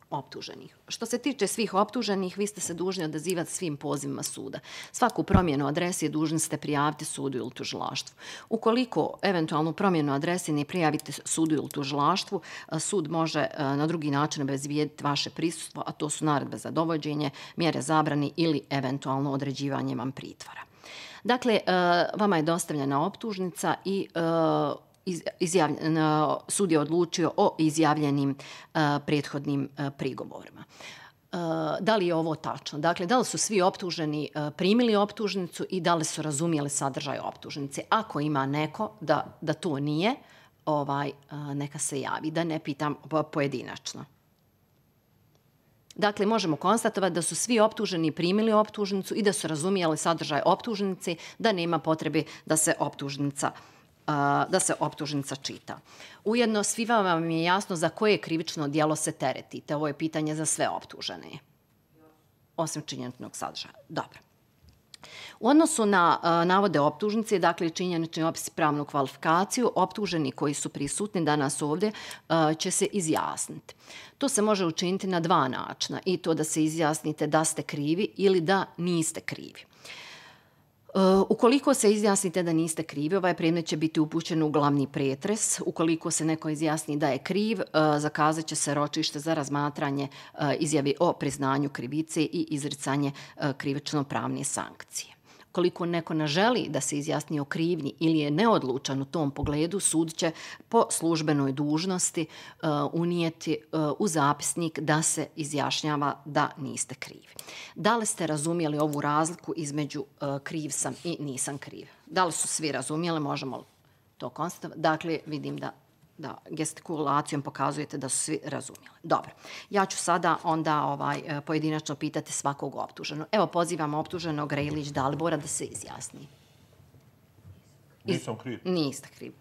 optuženih. Što se tiče svih optuženih, vi ste se dužni odazivati svim pozivima suda. Svaku promjenu adrese dužni ste prijaviti sudu ili tužilaštvu. Ukoliko eventualnu promjenu adrese ne prijavite sudu ili tužilaštvu, sud može na drugi način obezbijediti vaše prisustvo, a to su naredbe za dovođenje, mjere zabrane ili eventualno određivanje vam pritvora. Dakle, vama je dostavljena optužnica i sud je odlučio o izjavljenim prethodnim prigovorima. Da li je ovo tačno? Dakle, da li su svi optuženi primili optužnicu i da li su razumjeli sadržaj optužnice? Ako ima neko da to nije, neka se javi, da ne pitam pojedinačno. Dakle, možemo konstatovati da su svi optuženi primili optužnicu i da su razumjeli sadržaj optužnice, da nema potrebe da se optužnica čita. Ujedno, svima vam je jasno za koje krivično djelo se teretite. Ovo je pitanje za sve optužene. Osim činjeničnog sadržaja. Dobro. U odnosu na navode optužnice, dakle činjenični opis i pravnu kvalifikaciju, optuženi koji su prisutni danas ovdje će se izjasniti. To se može učiniti na dva načina, i to da se izjasnite da ste krivi ili da niste krivi. Ukoliko se izjasnite da niste krivi, ovaj predmet će biti upućen u glavni pretres. Ukoliko se neko izjasni da je kriv, zakazat će se ročište za razmatranje izjave o priznanju krivice i izricanje krivično-pravne sankcije. Ukoliko neko ne želi da se izjasni o krivnji ili je neodlučan u tom pogledu, sud će po službenoj dužnosti unijeti u zapisnik da se izjašnjava da niste krivi. Da li ste razumjeli ovu razliku između kriv sam i nisam kriv? Da li su svi razumjeli? Možemo to konstatovati? Dakle, vidim da gestikulacijom pokazujete da su svi razumjeli. Dobro. Ja ću sada onda pojedinačno pitati svakog optuženog. Evo, pozivam optuženog Rejlić Dalibora da se izjasni. Nisam kriv. Niste kriv.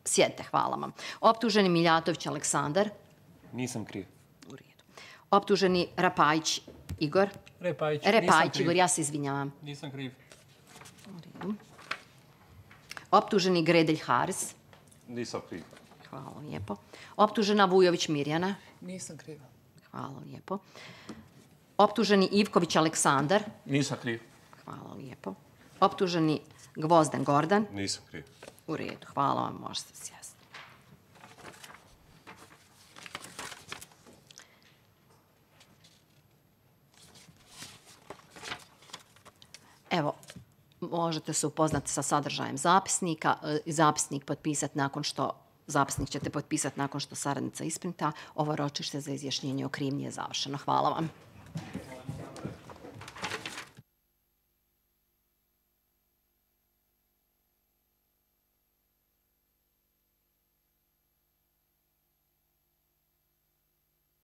Sjedite, hvala vam. Optuženi Miljatović Aleksandar. Nisam kriv. U redu. Optuženi Rapajić Igor. Repajić, Igor, ja se izvinjavam. Nisam kriv. U redu. Optuženi Gredelj Haris. Nisam kriv. Hvala lijepo. Optužena Vujović Mirjana. Nisam kriva. Hvala lijepo. Optuženi Ivković Aleksandar. Nisam kriv. Hvala lijepo. Optuženi Gvozden Gordan. Nisam kriv. U redu. Hvala vam, možete se sjesti. Evo, možete se upoznati sa sadržajem zapisnika. Zapisnik ćete potpisati nakon što saradnica isprinta. Ovo ročište za izjašnjenje o krivnji je završeno. Hvala vam.